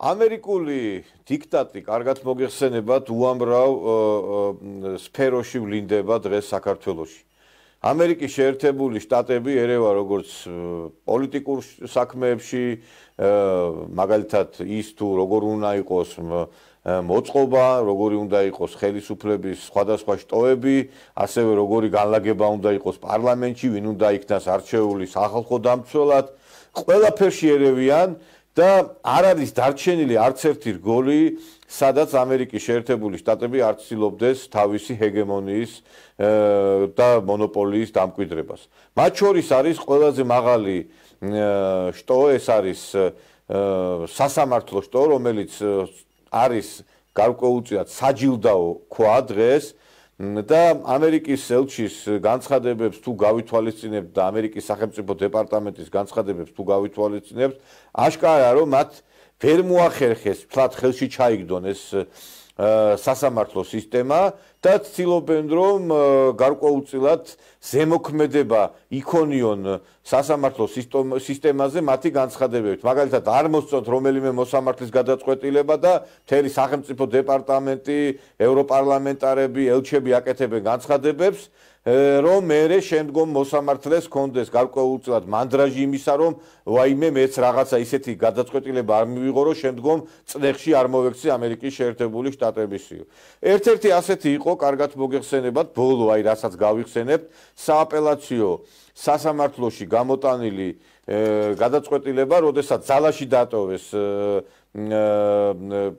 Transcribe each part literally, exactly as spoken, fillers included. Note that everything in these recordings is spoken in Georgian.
ამერიკული დიქტატი კარგად მოგეხსენებათ უამრავ სფეროში ვლინდება დღეს საქართველოში. ამერიკის შეერთებული შტატები ერევა როგორც პოლიტიკურ საქმეებში, მაგალითად ის თუ როგორ უნდა იყოს მოწყობა, როგორი უნდა იყოს ხელისუფლების სხვადასხვა შტოები, ასევე როგორი განლაგება უნდა იყოს პარლამენტში, ვინ უნდა იქნას არჩეული სახალხო დამცველად, ყველაფერში ერევიან და არ არის დარჩენილი არც ერთი რგოლი, სადაც ამერიკის შეერთებული შტატები არ ცდილობდეს თავისი ჰეგემონიის და მონოპოლიის დამკვიდრებას. მათ შორის არის ყველაზე მაღალი შტო, ეს არის სასამართლო შტო, რომელიც არის გარკვეულწილად საჯილდაო ქვა დღეს და ამერიკის ელჩის განცხადებებს თუ გავითვალისწინებთ და ამერიკის სახელმწიფო დეპარტამენტის განცხადებებს თუ გავითვალისწინებთ, აშკარაა რომ მათ ვერ მოახერხეს თლად ხელში ჩაიგდონ ეს სასამართლო სისტემა და ცდილობენ რომ გარკვეულწილად ზემოქმედება იქონიონ სასამართლო სისტემაზე მათი განცხადებებით. მაგალითად არ მოსწონთ რომელიმე მოსამართლის გადაწყვეტილება და მთელი სახელმწიფო დეპარტამენტი, ევროპარლამენტარები, ელჩები აკეთებენ განცხადებებს, რომ მერე შემდგომ მოსამართლეს კონდეს გარკვეულწილად მანდრაჟი იმისა, რომ ვაიმე მეც რაღაცა ისეთი გადაწყვეტილება არ მივიღო, რომ შემდგომ წნეხში არ მოვექცე ამერიკის შეერთებული შტატებისიო. ერთ-ერთი ასეთი იყო, კარგად მოგეხსენებათ, ბოლო აი რასაც გავიხსენებთ, სააპელაციო სასამართლოში გამოტანილი გადაწყვეტილება, როდესაც ძალაში დატოვეს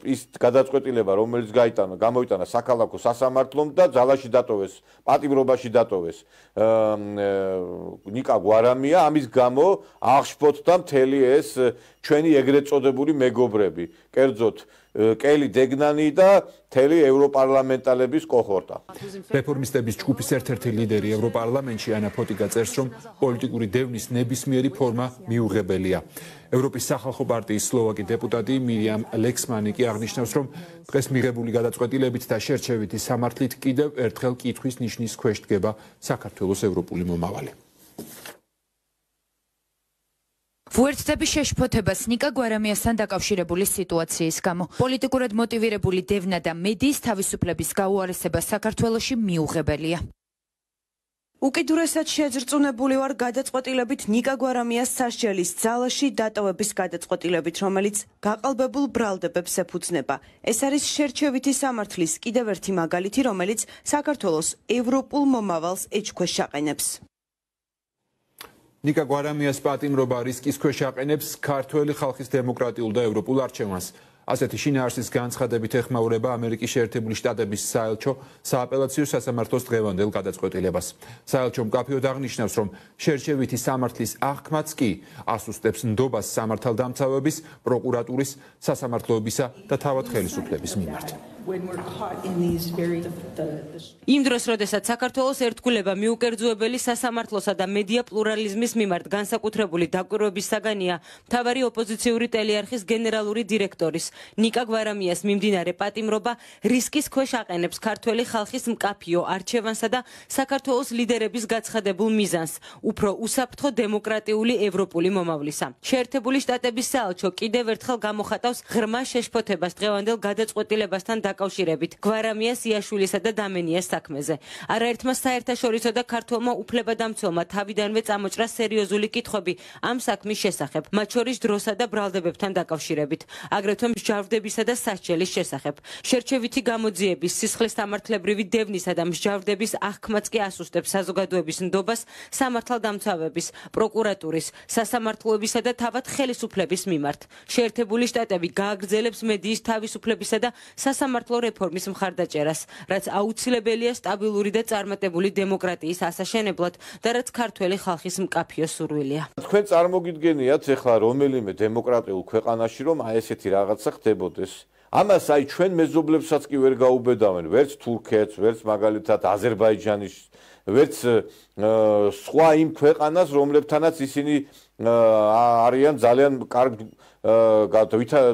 ის გადაწყვეტილება, რომელიც გაიტანა, გამოიტანა საქალაქო სასამართლომ და ძალაში დატოვეს, პატიმრობაში დატოვეს ნიკა გვარამია, ამის გამო აღშფოთდა მთელი ეს ჩვენი ეგრეთ წოდებული მეგობრები, კერძოდ კელი დეგნანი და მთელი ევროპარლამენტალების კოჰორტა. რეფორმისტების ჯგუფის ერთ-ერთი ლიდერი ევროპარლამენტში ანა ფოტიკა წერს, რომ პოლიტიკური დევნის ნებისმიერი ფორმა მიუღებელია. ევროპის სახალხო პარტიის სლოვაკი დეპუტატი მირიამ ლექსმანი კი აღნიშნავს, რომ დღეს მიღებული გადაწყვეტილებით და შერჩევითი სამართლით კიდევ ერთხელ კითხვის ნიშნის ქვეშ დგება საქართველოს ევროპული მომავალი. ვუერთდები შეშფოთებას ნიკა გვარამიასთან დაკავშირებული სიტუაციის გამო. პოლიტიკურად მოტივირებული დევნა და მედიის თავისუფლების გაუარესება საქართველოში მიუღებელია. უკიდურესად შეძრწუნებული ვარ გადაწყვეტილებით ნიკა გვარამიას სასჯელის ძალაში დატოვების გადაწყვეტილებით, რომელიც გაყალბებულ ბრალდებებს ეფუძნება. ეს არის შერჩევითი სამართლის კიდევ ერთი მაგალითი, რომელიც საქართველოს ევროპულ მომავალს ეჭქვეშ აყენებს. ნიკა გვარამიას პატიმრობა რისკის ქვეშ აყენებს ქართველი ხალხის დემოკრატიულ და ევროპულ არჩევანს. ასეთი შინაარსის განცხადებით ეხმაურება ამერიკის შეერთებული შტატების საელჩო სააპელაციო სასამართლოს დღევანდელ გადაწყვეტილებას. საელჩო მკაფიოდ აღნიშნავს, რომ შერჩევითი სამართლის აღქმაც კი ასუსტებს ნდობას სამართალდამცავების, პროკურატურის, სასამართლოებისა და თავად ხელისუფლების მიმართ. იმ დროს, როდესაც საქართველოს ერთგულება მიუკერძუებელი სასამართლოსა და მედია პლურალიზმის მიმართ განსაკუთრებული დაკვირვების საგანია, მთავარი ოპოზიციური ტელეარხის გენერალური დირექტორის ნიკა გვარამიას მიმდინარე პატიმრობა რისკის ქვეშ აყენებს ქართველი ხალხის მკაფიო არჩევანსა და საქართველოს ლიდერების გაცხადებულ მიზანს, უფრო უსაფრთხო დემოკრატიული ევროპული მომავლისა. შეერთებული შტატების საელჩო კიდევ ერთხელ გამოხატავს ღრმა შეშფოთებას დღევანდელ გადაწყვეტილებასთან დაკავშირებით გვარამიას, იაშვილისა და დამენიას საქმეზე. არაერთმა საერთაშორისო და ქართველმა უფლებადამცველმა თავიდანვე წამოჭრა სერიოზული კითხვები ამ საქმის შესახებ, მათ შორის დროსა და ბრალდებებთან დაკავშირებით, აგრეთვე მსჯავრდებისა და სასჯელის შესახებ. შერჩევითი გამოძიების, სისხლის სამართლებრივი დევნისა და მსჯავრდების აღქმაც კი ასუსტებს საზოგადოების ნდობას სამართალდამცავების, პროკურატურის, სასამართლოებისა და თავად ხელისუფლების მიმართ. შეერთებული შტატები გააგრძელებს მედიის თავისუფლებისა და სასამართლო რეფორმის მხარდაჭერას, რაც აუცილებელია სტაბილური და წარმატებული დემოკრატიის ასაშენებლად და რაც ქართველი ხალხის მკაფიო სურვილია. თქვენ წარმოგიდგენიათ ეხლა რომელიმე დემოკრატიულ ქვეყანაში რომ აი ესეთი რაღაცა ხდებოდეს. ამას აი ჩვენ მეზობლებსაც კი ვერ გაუბედავენ, ვერც თურქეთს, ვერც მაგალითად აზერბაიჯანის, ვერც სხვა იმ ქვეყანას, რომლებთანაც ისინი არიან ძალიან კარგ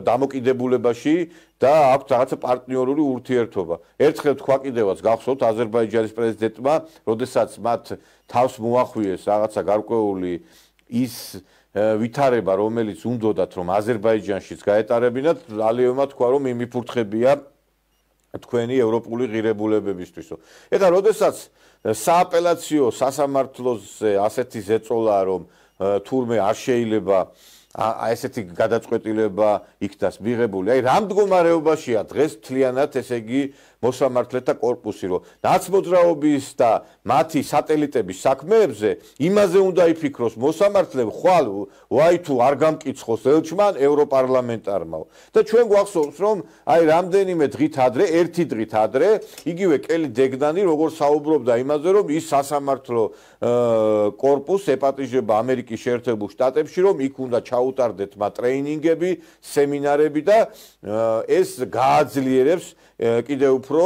დამოკიდებულებაში და აქვს რაღაცა პარტნიორული ურთიერთობა. ერთხელ თქვა კიდევაც გახსოვთ აზერბაიჯანის პრეზიდენტმა, როდესაც მათ თავს მოახვიეს რაღაცა გარკვეული ის ვითარება, რომელიც უნდათ რომ აზერბაიჯანშიც გაეტარებინათ, ალიევმა თქვა რომ იმიფურთხებია თქვენი ევროპული ღირებულებებისთვისო. ეხლა როდესაც სააპელაციო სასამართლოზე ასეთი ზეწოლა რომ თურმე არ შეიძლება ესეთი გადაწყვეტილება იქნას მიღებული. აი რამ მდგომარეობაშია დღეს მთლიანად ესე იგი მოსამართლეთა კორპუსი, რომ ნაცმოძრაობის და მათი სატელიტების საქმეებზე იმაზე უნდა იფიქროს მოსამართლე, ხვალ ვაი თუ არ გამკიცხოს ელჩმან ევროპარლამენტარმაო. და ჩვენ გვახსოვს, რომ აი რამდენიმე დღით ადრე, ერთი დღით ადრე, იგივე კელი დეგნანი როგორც საუბრობდა იმაზე, რომ ის სასამართლო კორპუსს ეპატიჟება ამერიკის შეერთებულ შტატებში, რომ იქ უნდა ჩაუტარდეთ მათ ტრეინინგები, სემინარები და ეს გააძლიერებს კიდევ უფრო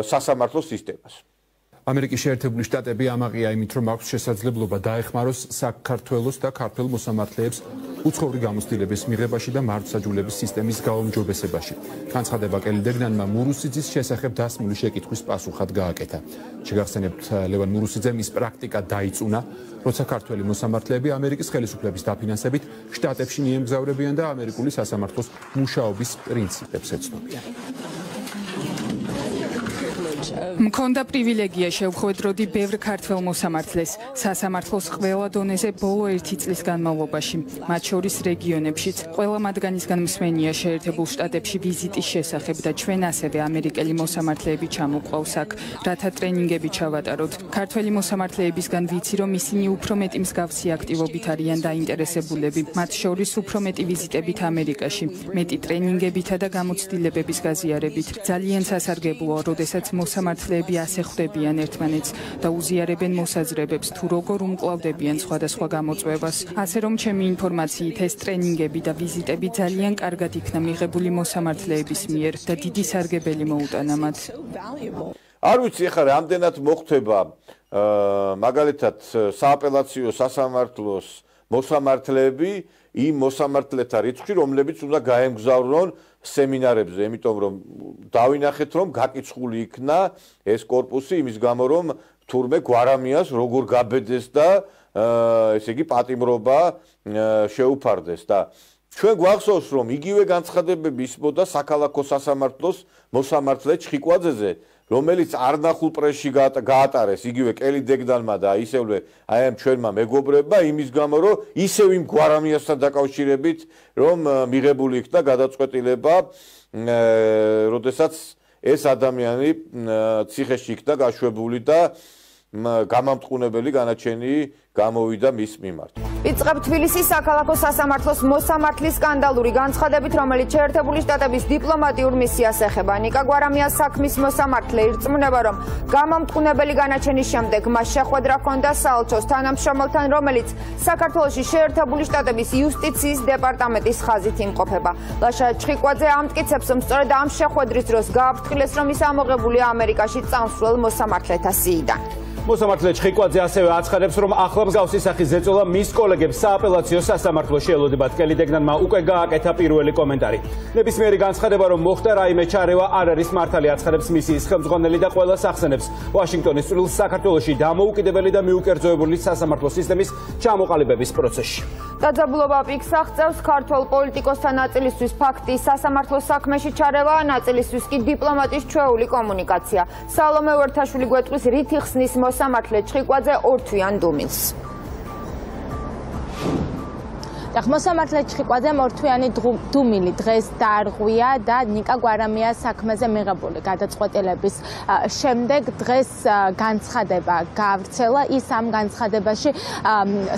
სასამართლო სისტემას. ამერიკის შეერთებული შტატები ამაღია იმით, რომ აქვს შესაძლებლობა დაეხმაროს საქართველოს და ქართველ მოსამართლეებს უცხოური გამოცდილების მიღებაში და მართლმსაჯულების სისტემის გაუმჯობესებაში. განცხადება კელი დეგნანმა მურუსიძის შესახებ დასმული შეკითხვის პასუხად გააკეთა. შეგახსენებთ, ლევან მურუსიძემ ის პრაქტიკა დაიწუნა, როცა ქართველი მოსამართლეები ამერიკის ხელისუფლების დაფინანსებით შტატებში მიემგზავრებიან და ამერიკული სასამართლოს მუშაობის პრინციპებს ეცნობიან. მქონდა პრივილეგია შევხვედროდი ბევრ ქართველ მოსამართლეს სასამართლოს ყველა დონეზე ბოლო ერთი წლის განმავლობაში, მათ შორის რეგიონებშიც. ყველა მათგანისგან მსმენია შეერთებულ შტატებში ვიზიტის შესახებ და ჩვენ ასევე ამერიკელი მოსამართლეები ჩამოყვავს აქ, რათა ტრენინგები ჩავატაროთ. ქართველი მოსამართლეებისგან ვიცი, რომ ისინი უფრო მეტი მსგავსი აქტივობით არიან დაინტერესებულები, მათ შორის უფრო მეტი ვიზიტებით ამერიკაში, მეტი ტრენინგებითა და გამოცდილებების გაზიარებით. ძალიან სასარგებლოა, როდესაც მოსამართლეები ასე ხვდებიან ერთმანეთს და უზიარებენ მოსაზრებებს თუ როგორ უმკლავდებიან სხვადასხვა გამოწვევას. ასე რომ ჩემი ინფორმაციით ეს ტრენინგები და ვიზიტები ძალიან კარგად იქნა მიღებული მოსამართლეების მიერ და დიდი სარგებელი მოუტანა მათ. არ ვიცი ახლა რამდენად მოხდება მაგალითად სააპელაციო სასამართლოს მოსამართლეები იმ მოსამართლეთა რიცხვი, რომლებიც უნდა გაემგზავრონ სემინარებზე, იმიტომ რომ დავინახეთ, რომ გაკიცხული იქნა ეს კორპუსი იმის გამო, რომ თურმე გვარამიას როგორ გაბედეს და ესე იგი პატიმრობა შეუფარდეს და ჩვენ გვახსოვს, რომ იგივე განცხადებები ისმოდა საქალაქო სასამართლოს მოსამართლე ჩხიკვაძეზე, რომელიც არნახულ პრესში გაატარეს იგივე კელი დეგნანმა და ისევე აი ამ ჩვენმა მეგობრებმა იმის გამო, რომ ისევ იმ გვარამიასთან დაკავშირებით, რომ მიღებული იქნა გადაწყვეტილება, როდესაც ეს ადამიანი ციხეში იქნა გაშვებული და გამამტყუნებელი განაჩენი გამოვიდა მის მიმართ. იწყებ თბილისის საქალაქო სასამართლოს მოსამართლის სკანდალური განცხადებით, რომელიც შეერთებული შტატების დიპლომატიურ მისიას ეხება. ნიკა გვარამიას საქმის მოსამართლე ირწმუნება, რომ გამამტყუნებელი განაჩენის შემდეგ მას შეხვედრა ჰქონდა საელჩოს თანამშრომელთან, რომელიც საქართველოში შეერთებული შტატების იუსტიციის დეპარტამენტის ხაზით იმყოფება. ლაშა ჩხიკვაძე ამტკიცებს, რომ სწორედ ამ შეხვედრის დროს გააფრთხილეს, რომ ის ამოღებულია ამერიკაში წამსვლელ მოსამართლეთა სიიდან. მოსამართლე ჩხიკვაძე ასევე აცხადებს, რომ ახლა მსგავსი სახის ზეწოლა მის კოლეგებს სააპელაციო სასამართლოში ელოდებათ. კელი დეგნანმა უკვე გააკეთა პირველი კომენტარი. ნებისმიერი განცხადება, რომ მოხდა რაიმე ჩარევა, არ არის მართალი, აცხადებს მისიის ხელმძღვანელი და ყველას ახსენებს ვაშინგტონის წვრილს საქართველოში დამოუკიდებელი და მიუკერძოებული სასამართლო სისტემის ჩამოყალიბების პროცესში. დაძაბულობა პიკს აღწევს ქართველ პოლიტიკოსთა ნაწილისთვის ფაქტი სასამართლო საქმეში ჩარევა, ნაწილისთვის კი დიპლომატის ჩვეული კომუნიკაცია. სალომე ვერთაშვილი გვეტყვის რით იხსნის მოსამართლე ჩხიკვაძე ორთვიან დუმილს. მოსამართლე ჩხიკვაძემ ორთვიანი დუმილი დღეს დაარღვია და ნიკა გვარამიას საქმეზე მიღებული გადაწყვეტილების შემდეგ დღეს განცხადება გავრცელა. ის ამ განცხადებაში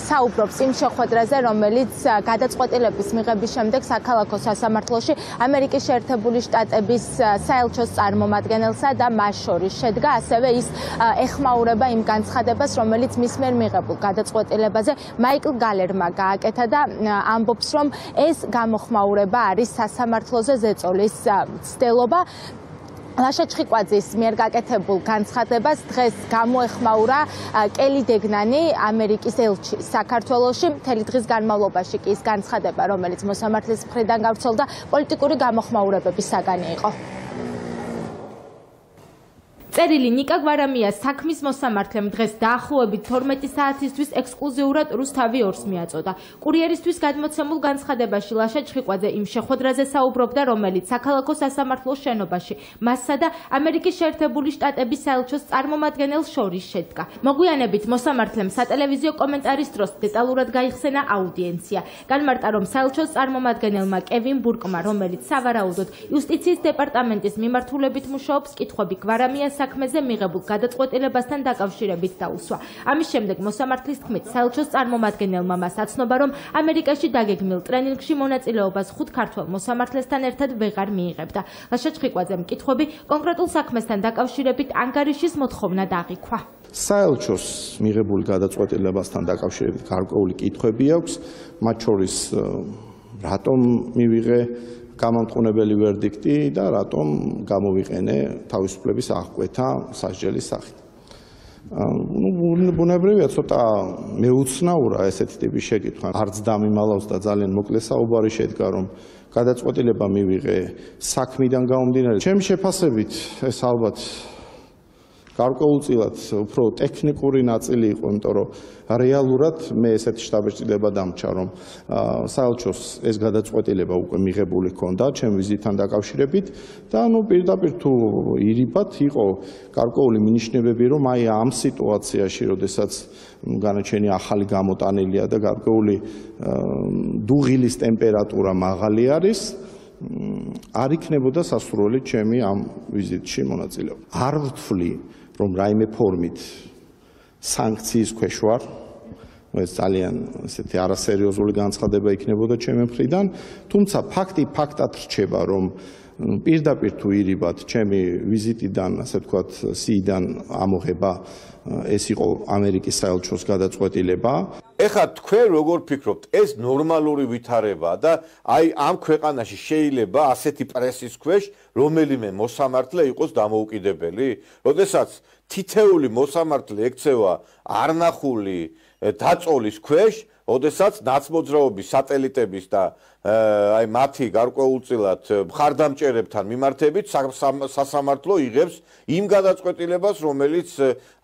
საუბრობს იმ შეხვედრაზე, რომელიც გადაწყვეტილების მიღების შემდეგ საქალაქო სასამართლოში ამერიკის შეერთებული შტატების საელჩოს წარმომადგენელსა და მას შორის შედგა. ასევე ის ეხმაურება იმ განცხადებას, რომელიც მის მიერ მიღებულ გადაწყვეტილებაზე მაიკლ გალერმა გააკეთა და ამბობს, რომ ეს გამოხმაურება არის სასამართლოზე ზეწოლის ცდელობა. ლაშა ჩხიკვაძის მიერ გაკეთებულ განცხადებას დღეს გამოეხმაურა კელი დეგნანი, ამერიკის ელჩი საქართველოში. მთელი დღის განმავლობაში კი ის განცხადება, რომელიც მოსამართლის მხრიდან გავრცელდა, პოლიტიკური გამოხმაურებების საგანი იყო. წერილი ნიკა გვარამიას საქმის მოსამართლემ დღეს დაახლოებით თორმეტი საათისთვის ექსკლუზიურად რუსთავი ორს მიაწოდა. კურიერისთვის გადმოცემულ განცხადებაში ლაშა ჩხიკვაძე იმ შეხვედრაზე საუბრობდა, რომელიც საქალაქო სასამართლოს შენობაში მასსა და ამერიკის შეერთებული შტატების საელჩოს წარმომადგენელს შორის შედგა. მოგვიანებით მოსამართლემ სატელევიზიო კომენტარის დროს დეტალურად გაიხსენა აუდიენცია. განმარტა, რომ საელჩოს წარმომადგენელმა კევინ ბურკმა, რომელიც სავარაუდოდ იუსტიციის დეპარტამენტის მიმართულებით მუშაობს, კითხვები გვარამიას საქმეზე მიღებულ გადაწყვეტილებასთან დაკავშირებით დაუსვა. ამის შემდეგ მოსამართლის თქმით, საელჩოს წარმომადგენელმა მას აცნობა, რომ ამერიკაში დაგეგმილ ტრენინგში მონაწილეობას ხუთ ქართველ მოსამართლესთან ერთად ვეღარ მიიღებდა. ლაშა ჩხიკვაძემ კითხვები კონკრეტულ საქმესთან დაკავშირებით ანგარიშის მოთხოვნა დააღიქვა. საელჩოს მიღებული გადაწყვეტილებასთან დაკავშირებით გარკვეული კითხვები აქვს, მათ შორის რატომ მივიღე გამამტყუნებელი ვერდიქტი და რატომ გამოვიყენე თავისუფლების აღკვეთა სასჯელის სახით. ნუ ბუნებრივია ცოტა მეუცნაურა ესეთი ტიპის შეკითხვა. არც დამიმალავს და ძალიან მოკლე საუბარი შედგა, რომ გადაწყვეტილება მივიღე საქმიდან გამომდინარე. ჩემი შეფასებით ეს ალბათ გარკვეულწილად უფრო ტექნიკური ნაწილი იყო, იმიტომ რომ რეალურად მე ესეთი შტაბ-ბეჭდილება დამჭა, რომ საელჩოს ეს გადაწყვეტილება უკვე მიღებული ჰქონდა ჩემი ვიზიტთან დაკავშირებით და ნუ პირდაპირ თუ ირიბად იყო გარკვეული მინიშნებები, რომ აი ამ სიტუაციაში, როდესაც განაჩენი ახალი გამოტანილია და გარკვეული დუღილის ტემპერატურა მაღალი არის, არ იქნებოდა სასურველი ჩემი ამ ვიზიტში მონაწილეობა. არ ვთვლი, რომ რაიმე ფორმით სანქციის ქვეშ ვარ, ეს ძალიან ესეთი არასერიოზული განცხადება იქნებოდა ჩემი მხრიდან, თუმცა ფაქტი ფაქტად რჩება, რომ პირდაპირ თუ ირიბად ჩემი ვიზიტიდან, ასე ვთქვათ, სიიდან ამოღება ეს იყო ამერიკის საელჩოს გადაწყვეტილება. ეხლა თქვენ როგორ ფიქრობთ, ეს ნორმალური ვითარებაა და აი ამ ქვეყანაში შეიძლება ასეთი პრესის ქვეშ რომელიმე მოსამართლე იყოს დამოუკიდებელი? როდესაც თითეული მოსამართლე ექცევა არნახული დაწოლის ქვეშ, ოდესაც ნაცმოძრაობის სატელიტების და აი მათი გარკვეულწილად მხარდამჭერებთან მიმართებით სასამართლო იღებს იმ გადაწყვეტილებას, რომელიც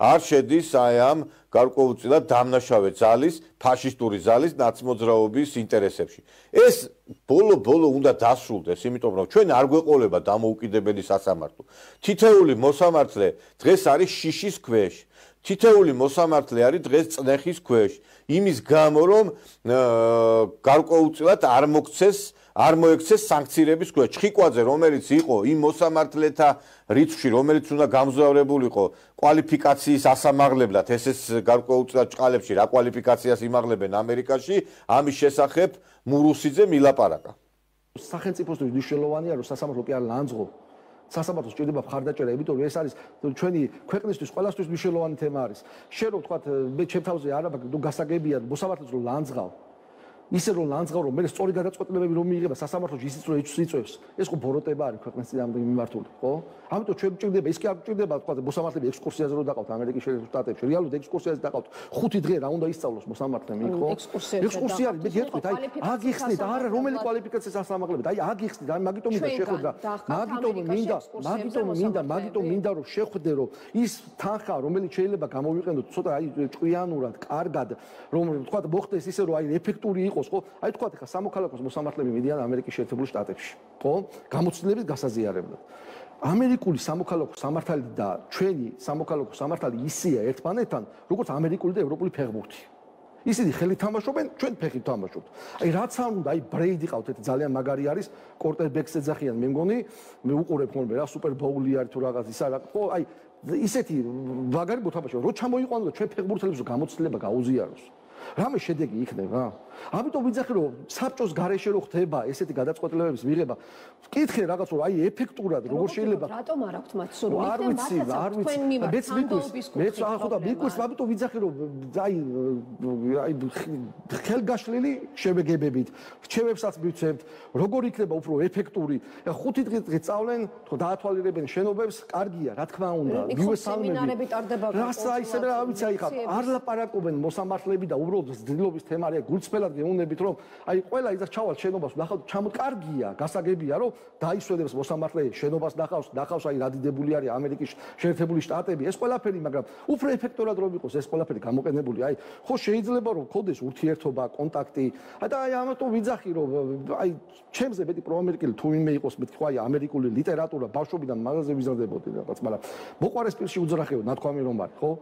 არ შედის აი ამ გარკვეულწილად დამნაშავე ძალის, ფაშისტური ძალის ნაცმოძრაობის ინტერესებში. ეს ბოლო-ბოლო უნდა დასრულდეს, იმიტომ რომ ჩვენ არ გვეყოლება დამოუკიდებელი სასამართლო. თითეული მოსამართლე დღეს არის შიშის ქვეშ. თითეული მოსამართლე არის დღეს წნეხის ქვეშ. იმის გამო, რომ გარკვეულწილად არ მოგცეს, არ მოექცეს სანქციების ქვეშ. ჩხიკვაძე, რომელიც იყო იმ მოსამართლეთა რიცხვში, რომელიც უნდა გამგზავრებულიყო კვალიფიკაციის ასამაღლებლად, ეს ეს გარკვეულწილად ჭყალებში რა კვალიფიკაციას იმაღლებენ ამერიკაში, ამის შესახებ მურუსიძე მილაპარაკა. სახელმწიფოსთვის მნიშვნელოვანია, რომ სასამართლო კი არ ლანძღო. სასამართლოს ჭირდება მხარდაჭერა, იმიტომ რომ ეს არის ჩვენი ქვეყნისთვის ყველასთვის მნიშვნელოვანი თემა არის. შენ რო თქვა მე ჩემ თავზე არა მაგ გასაგებია მოსამართლეს რომ ლანძღავ. ისე რომ ლანძღავ რომ მე სწორი გადაწყვეტილებები რომ მიიღება სასამართლოში ისიც რომ იწვევს. ეს ხო ბოროტება არის ქვეყნის წინააღმდეგ მიმართული, ხო? ამიტომ ჩვენ ჭირდება, ის კი არ ჭირდება თქვა მოსამართლეები ექსკურსიაზე რომ დაყავთ ამერიკის შეერთებულ შტატებში. რეალურად ექსკურსიაზე დაყავთ. ხუთი დღე რა უნდა ისწავლოს მოსამართლემ იქ, ხო? ექსკურსია არის, მე გეტყვით, აი აგიხსნით, არა რომელი კვალიფიკაციას ასამაღლებთ. აი აგიხსნით, აი მაგიტომ მინდა შეხვედრა. მაგიტომ მინდა, მაგიტომ მინდა, მაგიტომ მინდა რომ შეხვდე, რომ ის თანხა, რომელიც შეიძლება გამოვიყენოთ ცოტა აი ჭკვიანურად, კარგად, რომ თქვა მოხდეს ისე რომ აი ეფექტური იყოს. ხო, აი თქვა ხა სამოქალაქოს მოსამართლეები მიდიან ამერიკის შეერთებულ შტატებში, ხო? გამოცდილების გასაზიარებლად. ამერიკული სამოქალაქო სამართალი და ჩვენი სამოქალაქო სამართალი ისეა ერთმანეთთან, როგორც ამერიკული და ევროპული ფეხბურთი. ისინი ხელით თამაშობენ, ჩვენ ფეხით თამაშობთ. აი რაც არ უნდა, აი ბრეიდი ყავთ, ეს ძალიან მაგარი არის, კორტერბექს ეძახიან, მე მგონი, მე უყურებ ხოლმე რა სუპერ ბოული არის თუ რაღაც ისა რა, ხო, აი ისეთი მაგარი მოთამაშე, რო ჩამოიყვანო და ჩვენ ფეხბურთელებს გამოცდილება გაუზიაროს. რამე შედეგი იქნება? ამიტომ ვიძახი რომ საბჭოს გარეშე რო ხდება ესეთი გადაწყვეტილებების მიღება, ვკითხე რაღაც რომ აი ეფექტურად როგორ შეიძლება რატომ არ აქვთ მათ სურვილი? არ ვიცი, არ ვიცი. მეც მიგვის, მეც ახლა და მიგვის, ამიტომ ვიძახი რომ აი აი ხელგაშლილი შემეგებებით, რჩევებსაც მივცემთ, როგორ იქნება უფრო ეფექტური. ხუთი დღე წავლენ, თქო დაათვალიერებენ შენობებს, კარგია, რა თქმა უნდა. მივესალმები. სემინარები ტარდება. რას აი ისე რა ვიცი აი ხა არ ლაპარაკობენ მოსამართლეები და უბრალოდ ძილობის თემა არის, გულწრფელად გეუნებით, რომ აი ყველა ის ჩავალ შენობას ნახავთ, ჩამოთ კარგია, გასაგებია, რომ დაისვენებს მოსამართლე შენობას ნახავს, ნახავს აი რადიდებული არის ამერიკის შეერთებული შტატები, ეს ყველაფერი, მაგრამ უფრო ეფექტურად რომ იყოს ეს ყველაფერი გამოყენებული, აი ხო შეიძლება რომ გქონდეს ურთიერთობა, კონტაქტი, და აი ამიტომ ვიძახი რომ აი ჩემზე მეტი პროამერიკელი თუ ვინმე იყოს მეთქვა აი ამერიკული ლიტერატურა ბავშვობიდან მაღაზია ვიზრდებოდი რაღაც, მაგრამ მოყვარეს პირში უძრახეო, ნათქვამი რომ არის, ხო?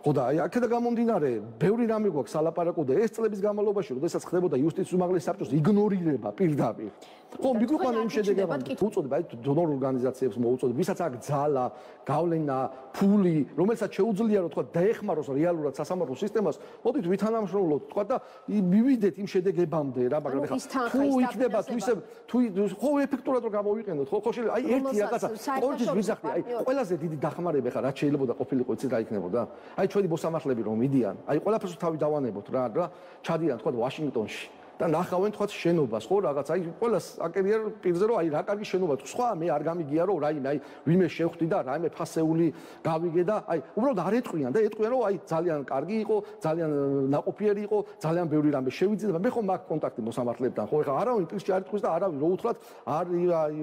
ხო და აი აქედა გამომდინარე, ბევრი რამე გვაქვს სალაპარაკო და ეს წლების განმავლობაში, როდესაც ხდებოდა იუსტიციის უმაღლესი საბჭოს იგნორირება პირდაპირ. ხო, მიგვიყვანა იმ შედეგებად, უწოდება აი დონორ ორგანიზაციებს მოუწოდებ, ვისაც აქვს ძალა, გავლენა, ფული, რომელსაც შეუძლია რომ თქვა დაეხმაროს რეალურად სასამართლო სისტემას, მოდით ვითანამშრომლოთ, თქვა და მივიდეთ იმ შედეგებამდე რა, მაგრამ ეხლა თუ იქნება თუ ისე თუ ხო ეფექტურად რომ გამოვიყენოთ, ხო ხო შეიძლება აი ერთი რაღაცა ყოველთვის ვიზახდი, აი ყველაზე დიდი დახმარება ეხლა რაც შეიძლება ყოფილიყო, იცით რა იქნებოდა? აი ჩვენი მოსამართლეები რომ მიდიან, აი ყველაფერს თავი დავანებოთ რა, რა ჩადიან თქვა ვაშინგტონში და ნახავენ თქვა შენობას, ხო რაღაც აი ყველას აკერია პირზე რომ აი რა კარგი შენობა, სხვა მე არ გამიგია რომ რაიმე აი ვინმე შევხვდი და რაიმე ფასეული გავიგე და აი უბრალოდ არ ეტყვიან და ეტყვიან რომ აი ძალიან კარგი იყო, ძალიან ნაყოფიერი იყო, ძალიან ბევრი რამე შევიძინა, მე ხომ მაქვს კონტაქტი მოსამართლებთან, ხო ეხლა არავინ პირში არ იტყვის და არავინ რო უთხრათ არ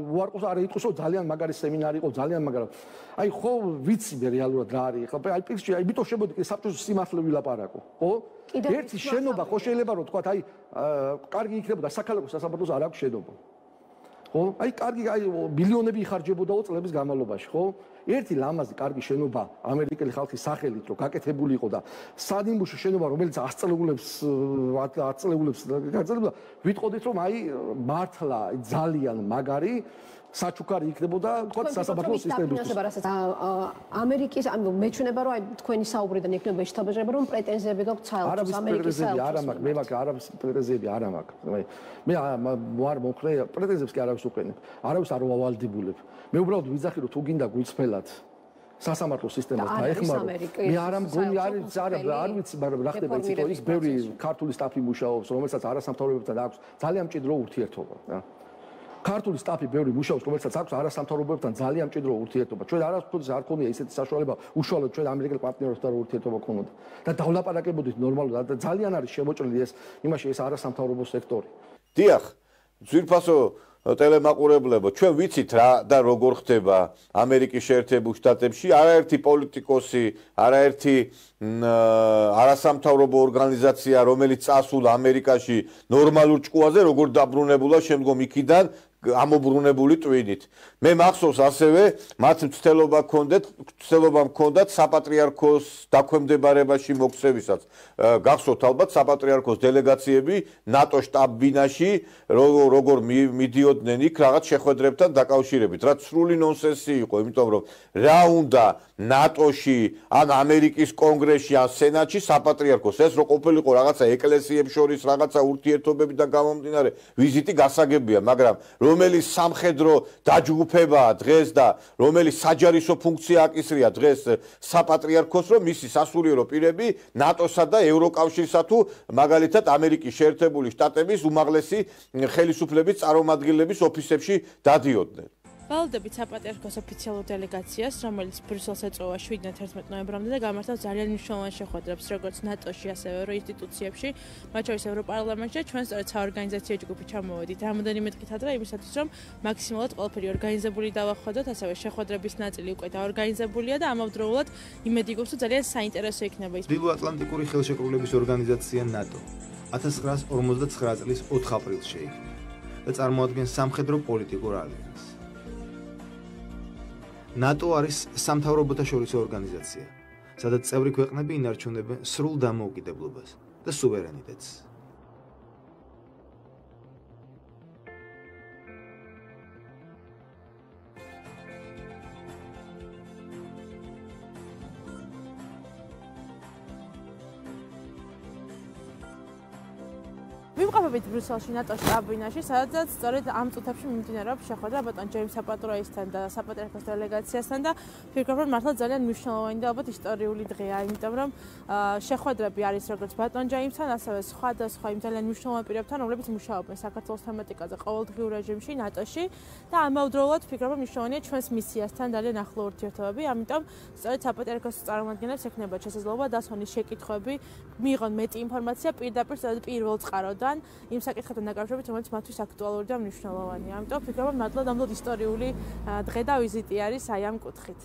უარყოს არ იტყვის რომ ძალიან მაგარი სემინარი იყო, ძალიან მაგრამ აი ხო ვიცი მე რეალურად რა არის ეხლა აი პირში აი მითო შემოდი საბჭოს სიმართლე ვილაპარაკო, ხო? ერთი შენობა ხო შეიძლება რომ თქვა აი კარგი იქნებოდა საქალაქო სასამართლოს არ აქვს შენობა. ხო? აი კარგი აი მილიონები იხარჯებოდაო წლების განმავლობაში, ხო? ერთი ლამაზი კარგი შენობა ამერიკელი ხალხის სახელით რომ გაკეთებული იყო და სანიმუშო შენობა რომელიც ათს წლეულებს ათს წლეულებს გაგრძელდა, ვიტყოდით რომ აი მართლა ძალიან მაგარი საჩუქარი იქნებოდა თქვა სასამართლო სისტემისთვის. ამერიკის ამ მეჩვენება რომ აი თქვენი საუბრიდან იქნება შეთავაზება რომ პრეტენზიები გაქვთ საელჩოს ამერიკის საელჩოს. არა მაქვს, მე მაქვს არავის პრეტენზიები არა მაქვს. მე არ მომხრე პრეტენზიებს კი არავის უყენებ. არავის არ ვავალდებულებ. მე უბრალოდ ვიძახი რომ თუ გინდა გულწრფელად სასამართლო სისტემას დაეხმარო. მე არ მგონი არის არა არ ვიცი მაგრამ რა ხდება იცით ის ბევრი ქართული სტაფი მუშაობს რომელსაც არასამთავრობოებთან აქვს ძალიან მჭიდრო ურთიერთობა რა. ქართული სტაფი ბევრი მუშაობს, რომელსაც აქვს არასამთავრობოებთან ძალიან მჭიდრო ურთიერთობა. ჩვენ არასდროს არ ქონია ისეთი საშუალება, უშუალოდ ჩვენ ამერიკელ პარტნიორებთან ურთიერთობა ქონოდა. და დავლაპარაკებოდით ნორმალურად და ძალიან არის შემოჭრილი ეს იმაში ეს არასამთავრობო სექტორი. დიახ, ძვირფასო ტელემაყურებლებო, ჩვენ ვიცით რა და როგორ ხდება ამერიკის შეერთებულ შტატებში, არაერთი პოლიტიკოსი, არაერთი არასამთავრობო ორგანიზაცია, რომელიც წასულა ამერიკაში ნორმალურ ჭკუაზე, როგორ დაბრუნებულა შემდგომ იქიდან ამობრუნებული ტვინით. მე მახსოვს ასევე მათ მცდელობა ჰქონდათ, მცდელობა ჰქონდათ საპატრიარქოს დაქვემდებარებაში მოქცევისაც. გახსოვთ ალბათ საპატრიარქოს დელეგაციები ნატო შტაბ-ბინაში როგორ მიდიოდნენ იქ რაღაც შეხვედრებთან დაკავშირებით. რაც სრული ნონსენსი იყო, იმიტომ რომ რა უნდა ნატოში, ან ამერიკის კონგრესში, ან სენატში საპატრიარქოს ეს რო ყოფილიყო რაღაცა ეკლესიებს შორის რაღაცა ურთიერთობებიდან გამომდინარე ვიზიტი გასაგებია, მაგრამ რომელიც სამხედრო დაჯგუფებაა დღეს და რომელიც საჯარისო ფუნქცია აკისრია დღეს საპატრიარქოს, რომ მისი სასულიერო პირები ნატოსა და ევროკავშირსა თუ მაგალითად ამერიკის შეერთებული შტატების უმაღლესი ხელისუფლების წარმომადგენლების ოფისებში დადიოდნენ. ვალდებით საპატრიარქოს ოფიციალურ დელეგაციას, რომელიც ბრიუსელს ეწევა შვიდიდან თერთმეტ ნოემბრამდე და გამართავს ძალიან მნიშვნელოვან შეხვედრებს, როგორც ნატოში, ასევე ევრო ინსტიტუციებში, მათ შორის ევროპარლამენტში. ჩვენ სწორედ საორგანიზაციო ჯგუფი ჩამოვედით რამოდენიმე დღით ადრე იმისათვის, რომ მაქსიმალურად ყველაფერი ორგანიზებული დავახვედროთ, ასევე შეხვედრების ნაწილი უკვე დაორგანიზებულია და ამავდროულად იმედი გვაქვს, რომ ძალიან საინტერესო იქნება ის. დილო-ატლანტიკური ხელშეკრულების ორგანიზაცია ნატო ათას ცხრაას ორმოცდაცხრა წლის ოთხ აპრილს შეიქმნა და წარმოადგენს სამხედრო პოლიტიკურ ალიანსს. ნატო არის სამთავრობოთა შორისო ორგანიზაცია, სადაც წევრი ქვეყნები ინარჩუნებენ სრულ დამოუკიდებლობას და სუვერენიტეტს. ვიმყოფებით ბრიუსელში ნატოს შტაბ-ბინაში, სადაც სწორედ ამ წუთებში მიმდინარეობს შეხვედრა ბატონ ჯეიმს საპატროისთან და საპატრიარქოს დელეგაციასთან და ვფიქრობ, რომ მართლა ძალიან მნიშვნელოვანი და ალბათ ისტორიული დღეა, იმიტომ რომ შეხვედრები არის როგორც ბატონ ჯეიმსთან, ასევე სხვადასხვა იმ ძალიან მნიშვნელოვან პირებთან, რომლებიც მუშაობენ საქართველოს თემატიკაზე ყოველდღიურ რეჟიმში ნატოში და ამავდროულად ვფიქრობ, რომ მნიშვნელოვანია ჩვენს მისიასთან ძალიან ახლო ურთიერთობები, ამიტომ სწორედ საპატრიარქოს წარმომადგენლებს ექნებათ შესაძლებლობა დასვენის შეკითხვები, მიიღონ მეტი ინფორმაცია პირდაპირ პირველ წყაროდან იმ საკითხებთან დაკავშირებით, რომელიც მათთვის აქტუალური და მნიშვნელოვანია. ამიტომ ვფიქრობ, რომ მართლა ნამდვილად ისტორიული დღე და ვიზიტი არის აი ამ კუთხით.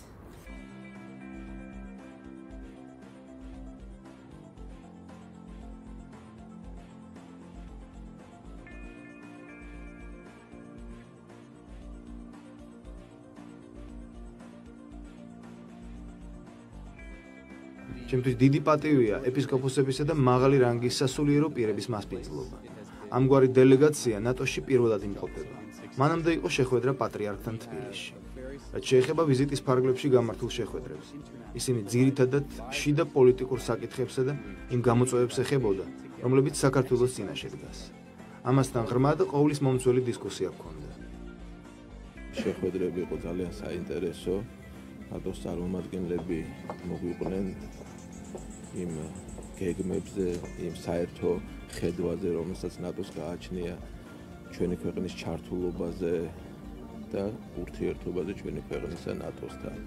ჩემთვის დიდი პატივია ეპისკოპოსებისა და მაღალი რანგის სასულიერო პირების მასპინძლობა. ამგვარი დელეგაცია ნატოში პირველად იმყოფება. მანამდე იყო შეხვედრა პატრიარქთან თბილისში. რაც შეეხება ვიზიტის ფარგლებში გამართულ შეხვედრებს, ისინი ძირითადად შიდა პოლიტიკურ საკითხებსა და იმ გამოწვევებს ეხებოდა, რომლებიც საქართველოს წინაშე დგას. ამასთან ღრმა და ყოვლის მომცველი დისკუსია ჰქონდა. შეხვედრები იყო ძალიან საინტერესო. ნატოს წარმომადგენლები მოგვიყვნენ იმ გეგმებზე, იმ საერთო ხედვაზე, რომელსაც ნატოს გააჩნია ჩვენი ქვეყნის ჩართულობაზე და ურთიერთობაზე ჩვენი ქვეყნისა ნატოსთან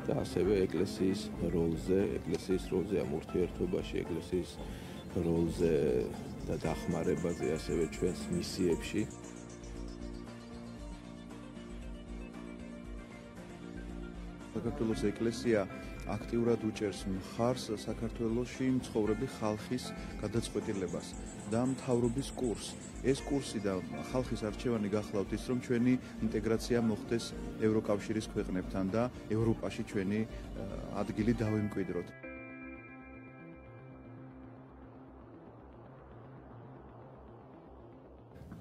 და ასევე ეკლესიის როლზე, ეკლესიის როლზე ამ ურთიერთობაში, ეკლესიის როლზე და დახმარებაზე ასევე ჩვენს მისიებში. საქართველოს ეკლესია აქტიურად უჭერს მხარს საქართველოში მცხოვრები ხალხის გადაწყვეტილებას და მთავრობის კურსს. ეს კურსი და ხალხის არჩევანი გახლავთ ის, რომ ჩვენი ინტეგრაცია მოხდეს ევროკავშირის ქვეყნებთან და ევროპაში ჩვენი ადგილი დავემკვიდროთ.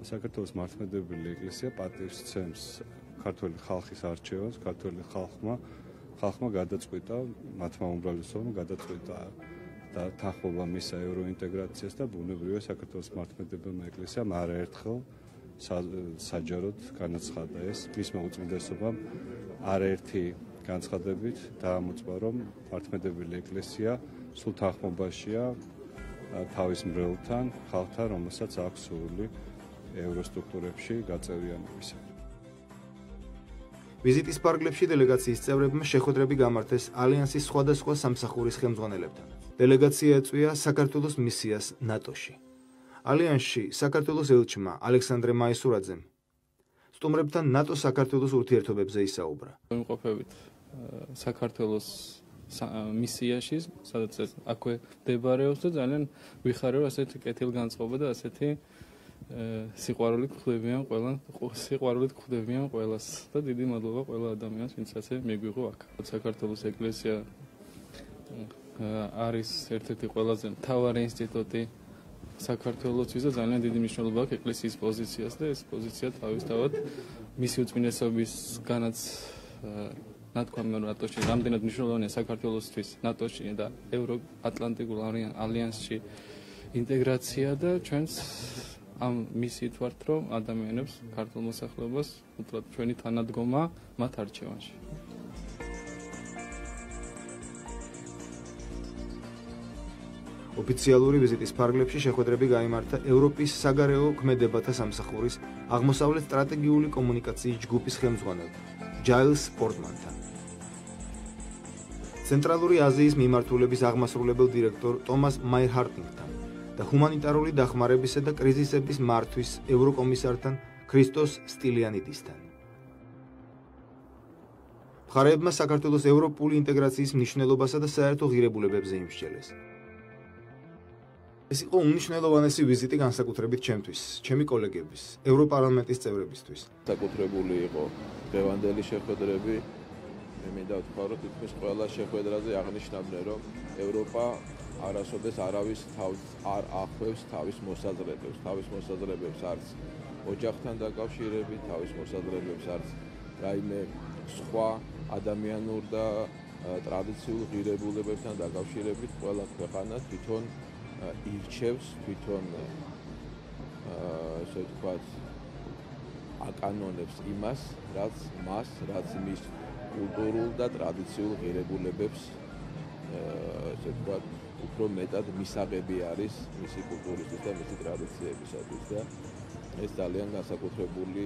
საქართველოს მართლმადიდებელი ეკლესია პატივს ცემს ქართული ხალხის არჩევას, ქართული ხალხმა ხალხმა გადაწყვიტა, მათმა უმრავლესობამ გადაწყვიტა და თანხმობა მისცა ევროინტეგრაციას და ბუნებრივია საქართველოს მართლმადიდებლმა ეკლესიამ არაერთხელ საჯაროდ განაცხადა ეს მისმა უწმიდესობამ არაერთი განცხადებით დაამოწმა, რომ მართლმადიდებელი ეკლესია სულ თანხმობაშია თავის მრევლთან, ხალხთან, რომელსაც აქვს სურვილი ევროსტრუქტურებში გაწევრიანებისა. ვიზიტის ფარგლებში დელეგაციის წევრებმა შეხვედრები გამართეს ალიანსის სხვადასხვა სამსახურის ხელმძღვანელებთან. დელეგაცია ეწვია საქართველოს მისიას ნატოში. ალიანსში საქართველოს ელჩმა ალექსანდრე მაისურაძემ სტუმრებთან ნატო-საქართველოს ურთიერთობებზე ისაუბრა. ვიმყოფებით საქართველოს მისიაში, სადაც აქვე მდებარეობს და ძალიან ვიხარებ ასეთი კეთილგანწყობა და ასეთი სიყვარულით ხვდებიან ყველა სიყვარულით ხვდებიან ყველას და დიდი მადლობა ყველა ადამიანს, ვინც ასე მიგვიღო აქ. საქართველოს ეკლესია არის ერთ-ერთი ყველაზე მთავარი ინსტიტუტი საქართველოსთვის და ძალიან დიდი მნიშვნელობა აქვს ეკლესიის პოზიციას და ეს პოზიცია თავისთავად მისი უწმინდესობისგანაც ნათქვამია ნატოში რამდენად მნიშვნელოვანია საქართველოსთვის ნატოში და ევროატლანტიკულ ალიანსში ინტეგრაცია და ჩვენს ამ მისით ვართ, რომ ადამიანებს ქართულ მოსახლეობას უთხრათ ჩვენი თანადგომა მათ არჩევანში. ოფიციალური ვიზიტის ფარგლებში შეხვედრები გაიმართა ევროპის საგარეო ქმედებათა სამსახურის აღმოსავლეთ სტრატეგიული კომუნიკაციის ჯგუფის ხელმძღვანელ ჯაილს პორტმანთან. ცენტრალური აზიის მიმართულების აღმასრულებელ დირექტორ ტომას მაირჰარტინგთან და ჰუმანიტარული დახმარებისა და კრიზისების მართვის ევროკომისართან ქრისტოს სტილიანიდისთან. მხარეებმა საქართველოს ევროპული ინტეგრაციის მნიშვნელობასა და საერთო ღირებულებებზე იმსჯელეს. ეს იყო უმნიშვნელოვანესი ვიზიტი განსაკუთრებით ჩემთვის, ჩემი კოლეგების, ევროპარლამენტის წევრებისთვის. საკუთრებული იყო დღევანდელი შეხვედრები. მე მინდა ვთქვა, რომ თითქმის ყველა შეხვედრაზე აღნიშნავდნენ, რომ ევროპა არასოდეს არავის თავს არ ახვევს თავის მოსაზრებებს, თავის მოსაზრებებს არც ოჯახთან დაკავშირებით, თავის მოსაზრებებს არც რაიმე სხვა ადამიანურ და ტრადიციულ ღირებულებებთან დაკავშირებით, ყველა ქვეყანა თვითონ ირჩევს, თვითონ ესე ვთქვათ, აკანონებს იმას, რაც მას, რაც მის კულტურულ და ტრადიციულ ღირებულებებს ესე ვთქვათ, უფრო მეტად მისაღები არის მისი კულტურისთვის და მისი ტრადიციებისათვის და ეს ძალიან განსაკუთრებული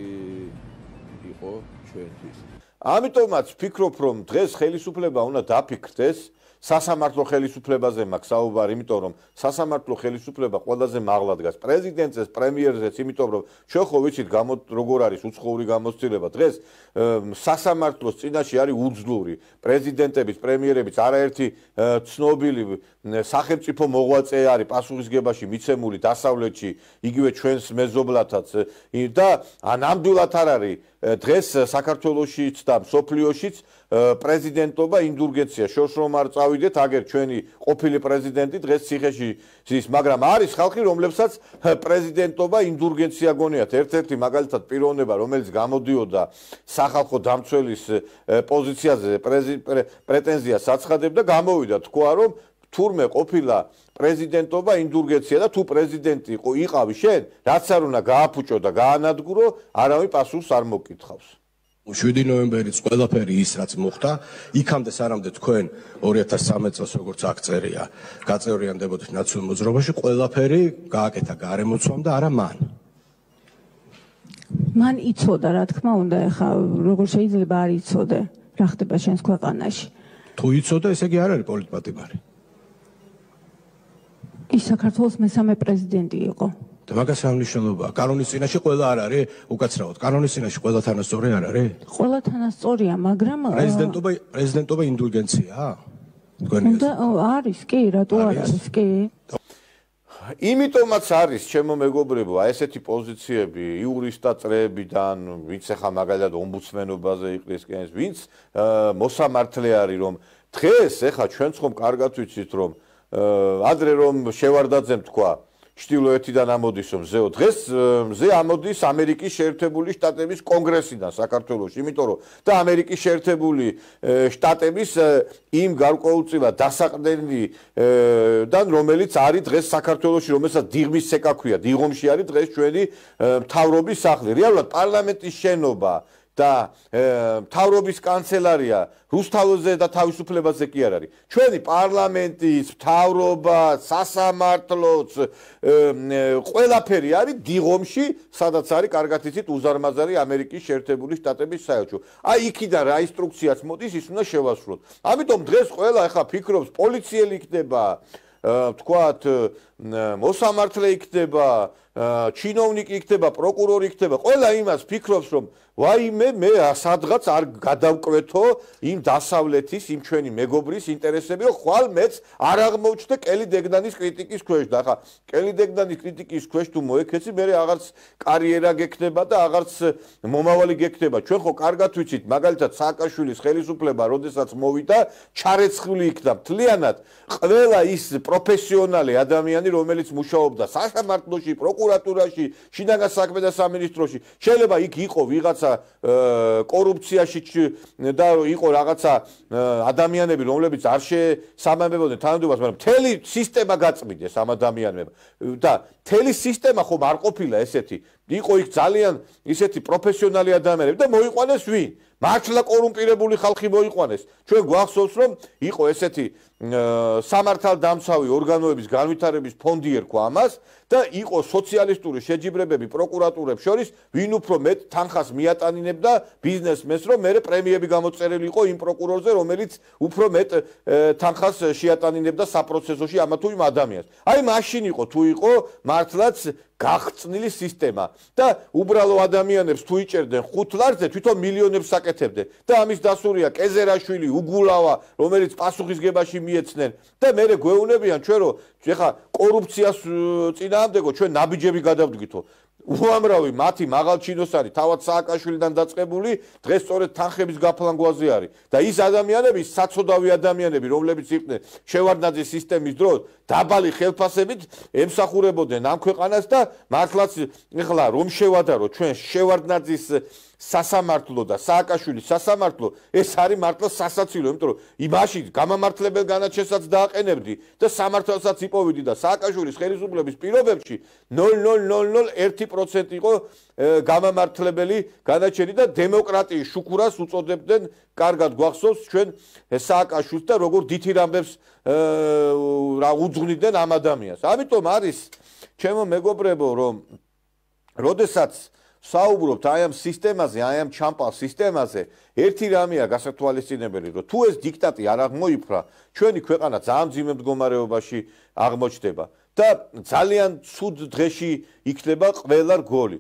იყო ჩვენთვის. ამიტომაც ვფიქრობ, რომ დღეს ხელისუფლება უნდა დაფიქრდეს სასამართლო ხელისუფლებაზე მაქვს საუბარი, იმიტომ რომ სასამართლო ხელისუფლება ყველაზე მაღლა დგას პრეზიდენტზეც, პრემიერზეც, იმიტომ რომ ჩვენ ხო ვიცით გამო როგორ არის უცხოური გამოცდილება. დღეს სასამართლოს წინაშე არის უძლური პრეზიდენტების, პრემიერების, არაერთი ცნობილი სახელმწიფო მოღვაწე არის პასუხისგებაში მიცემული დასავლეთში, იგივე ჩვენს მეზობლათაც და ნამდვილად არ არის დღეს საქართველოშიც და მსოფლიოშიც პრეზიდენტობა ინდულგენცია შორს რომ არ წავიდეთ, აგერ ჩვენი ყოფილი პრეზიდენტი დღეს ციხეში ზის, მაგრამ არის ხალხი, რომლებსაც პრეზიდენტობა ინდულგენცია გონიათ. ერთ-ერთი მაგალითად პიროვნება, რომელიც გამოდიოდა სახალხო დამცველის პოზიციაზე პრეტენზიას აცხადებდა, გამოვიდა თქვა, რომ თურმე ყოფილა პრეზიდენტობა ინდულგენცია და თუ პრეზიდენტი იყავი შენ, რაც არ უნდა გააფუჭო და გაანადგურო, არავინ პასუხს არ მოგკითხავს. შვიდი ნოემბერიც ყველაფერი ის რაც მოხდა, იქამდე სანამდე თქვენ ორი ათას სამი წელს როგორც აქ წერია, გაწევრიანდებოდით ნაციონალურ მოძრაობაში, ყველაფერი გააკეთა გარემოცვამ და არა მან. მან იცოდა, რა თქმა უნდა, ეხა როგორ შეიძლება არ იცოდე, რა ხდება შენს ქვეყანაში. თუ იცოდა, ესე იგი არ არის პოლიტპატიმარი. ის საქართველოს მესამე პრეზიდენტი იყო. და მაგას რა მნიშვნელობაა? კანონის წინაშე ყველა არ არის, უკაცრავად. კანონის წინაშე ყველა თანასწორი არ არის? ყველა თანასწორია, მაგრამ პრეზიდენტობა პრეზიდენტობა ინდულგენციაა? თქვენი უნდა არის, კი, რატო არ არის, კი? იმიტომაც არის, ჩემო მეგობრებო, აი ესეთი პოზიციები იურისტად წრეებიდან, ვინც ახლა მაგალითად ომბუდსმენობაზე იყრისკენს, ვინც მოსამართლე არის, რომ დღეს ახლა ჩვენც ხომ კარგად ვიცით, რომ ადრე რომ შევარდაძემ თქვა ჩtildeოეთიდან ამოდის რომ მზეო, დღეს მზე ამოდის ამერიკის შეერთებული შტატების კონგრესიდან საქართველოში, იმიტომ რომ და ამერიკის შეერთებული შტატების იმ გარკვეულწილად დასაყრდენიდან, რომელიც არის დღეს საქართველოში, რომელსაც დიღმის ცეკა ქვია, დიღომში არის დღეს ჩვენი მთავრობის სახლი. რეალურად პარლამენტის შენობა და მთავრობის კანცელარია რუსთაველზე და თავისუფლებაზე კი არ არის. ჩვენი პარლამენტის, მთავრობა, სასამართლოც ყველაფერი არის დიღომში, სადაც არის კარგად იცით უზარმაზარი ამერიკის შეერთებული შტატების საელჩო. აი იქიდან რა ინსტრუქციაც მოდის, ის უნდა შევასრულოთ. ამიტომ დღეს ყველა ახლა ფიქრობს, პოლიციელი იქნება, თქვათ, მოსამართლე იქნება, ჩინოვნიკი იქნება, პროკურორი იქნება, ყველა იმას ფიქრობს, რომ ვაიმე მე სადღაც არ გადავკვეთო იმ დასავლეთის, იმ ჩვენი მეგობრის ინტერესები, რომ ხვალ მეც არ აღმოჩნდე კელი დეგნანის კრიტიკის ქვეშ და ახლა კელი დეგნანის კრიტიკის ქვეშ თუ მოექეცი, მე აღარც კარიერა გექნება და აღარც მომავალი გექნება. ჩვენ ხო კარგად ვიცით, მაგალითად სააკაშვილის ხელისუფლება, როდესაც მოვიდა, ჩარეცხული იქნა მთლიანად ყველა ის პროფესიონალი ადამიანი, რომელიც მუშაობდა სასამართლოში, პროკურატურაში, შინაგან საქმეთა სამინისტროში, შეიძლება იქ იყო ვიღაც კორუფციაში და იყო რაღაცა ადამიანები, რომლებიც არ შესაბამებოდნენ თანამდებობას, მაგრამ მთელი სისტემა გაწმიდეს ამ ადამიანებმა და მთელი სისტემა ხომ არ ყოფილა ესეთი. იყო იქ ძალიან ისეთი პროფესიონალი ადამიანები და მოიყვანეს ვინ? მართლა კორუმპირებული ხალხი მოიყვანეს. ჩვენ გვახსოვს, რომ იყო ესეთი სამართალდამცავი ორგანოების განვითარების ფონდი ერქვა ამას და იყო სოციალისტური შეჯიბრებები პროკურატურებს შორის, ვინ უფრო მეტ თანხას მიატანინებდა ბიზნესმენს, რომ მერე პრემიები გამოწერილი იყო იმ პროკურორზე, რომელიც უფრო მეტ თანხას შეატანინებდა საპროცესოში ამა თუ იმ ადამიანს. აი მაშინ იყო თუ იყო მართლაც გახწნილი სისტემა და უბრალო ადამიანებს თუ იჭერდნენ ხუთ ლარზე, თვითონ მილიონებს აკეთებდნენ და ამის დასურია კეზერაშვილი, უგულავა, რომელიც პასუხისგებაში მიეცნენ და მერე გვეუბნებიან ჩვენ, რომ ეხა კორუფციას წინააღმდეგო ჩვენ ნაბიჯები გადავდგითო. უამრავი მათი მაღალჩინოსანი თავად სააკაშვილიდან დაწყებული დღეს სწორედ თანხების გაფლანგვაზე არის და ის ადამიანები, საცოდავი ადამიანები, რომლებიც იყვნენ შევარდნაძის სისტემის დროს დაბალი ხელფასებით ემსახურებოდნენ ამ ქვეყანას და მართლაც ეხლა რომ შევადარო ჩვენ შევარდნაძის სასამართლო და სააკაშვილის სასამართლო ეს არის მართლა სასაცილო, იმიტომ რომ იმაში გამამართლებელ განაჩენსაც დააყენებდი და სამართალსაც იპოვიდი და სააკაშვილის ხელისუფლების პირობებში ნულ ნულ ნულ ნულ ერთი პროცენტი იყო გამამართლებელი განაჩენი და დემოკრატიის შუქურას უწოდებდნენ, კარგად გვახსოვს ჩვენ სააკაშვილს და როგორ დიდ ამბებს რა უძღვნიდნენ ამ ადამიანს. ამიტომ არის ჩემო მეგობრებო, რომ როდესაც საუბრობთ აი ამ სისტემაზე, აი ამ ჩამპალ სისტემაზე, ერთი რამეა გასათვალისწინებელი, რომ თუ ეს დიქტატი არ აღმოიფრა, ჩვენი ქვეყანა ძალიან მძიმე მდგომარეობაში აღმოჩნდება და ძალიან ცუდ დღეში იქნება ყველა რგოლი.